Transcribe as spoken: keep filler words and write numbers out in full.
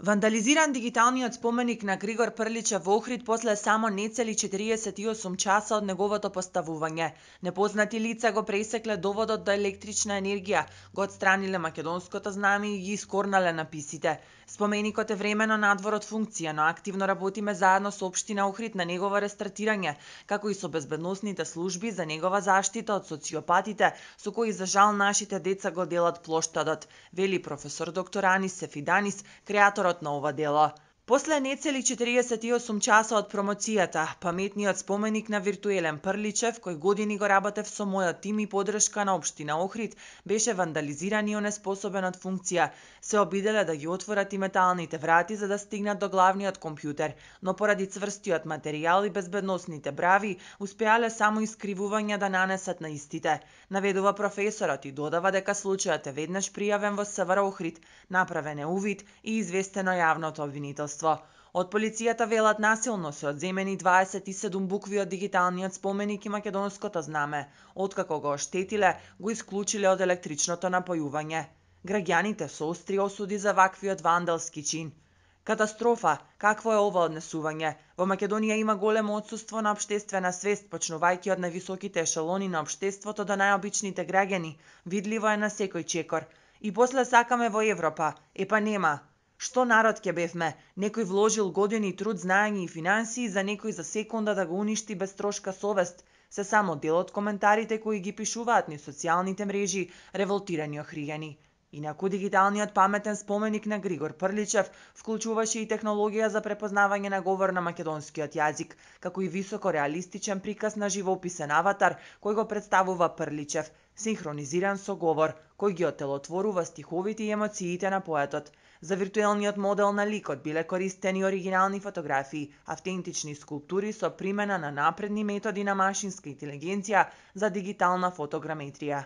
Вандализиран дигиталниот споменик на Григор Прличев во Охрид после само нецели четириесет и осум часа од неговото поставување. Непознати лица го пресекле доводот до електрична енергија, го отстраниле македонското знаме и ги искорнале написите. Споменикот е времено надвор од функција, но активно работиме заедно со општина Охрид на негово рестартирање, како и со безбедносните служби за негова заштита од социопатите со кои за жал нашите деца го делат плоштадот, вели професор доктор Анис Сефиданис, креатор на ова дело. После нецели четириесет и осум часа од промоцијата, паметниот споменик на виртуелен Прличев, кој години го работев со мојот тим и подршка на општина Охрид, беше вандализиран и онеспособен од функција. Се обиделе да ги отворат и металните врати за да стигнат до главниот компјутер, но поради цврстиот материјал и безбедносните брави, успеале само искривувања да нанесат на истите. Наведува професорот и додава дека случајот е веднаш пријавен во СВР Охрид, направен е увид и известено јавното обвинителство. Од полицијата велат насилно се одземени дваесет и седум букви од дигиталниот споменик и македонското знаме. Откако го оштетиле, го исклучиле од електричното напојување. Граѓаните со остри осуди за ваквиот вандалски чин. Катастрофа, какво е ова однесување? Во Македонија има големо отсуство на општествена свест, почнувајќи од највисоките ешелони на општеството до најобичните граѓани. Видливо е на секој чекор. И после сакаме во Европа. Епа нема. Што народ ќе бевме? Некој вложил години труд, знаење и финансии за некој за секунда да го уништи без трошка совест. Се само дел од коментарите кои ги пишуваат низ социјалните мрежи револтирани охриѓани. Инаку дигиталниот паметен споменик на Григор Прличев вклучуваше и технологија за препознавање на говор на македонскиот јазик, како и високо реалистичен приказ на живописен аватар кој го представува Прличев, синхронизиран со говор, кој ги отелотворува стиховите и емоциите на поетот. За виртуелниот модел на ликот биле користени оригинални фотографии, автентични скулптури со примена на напредни методи на машинска интелигенција за дигитална фотограметрија.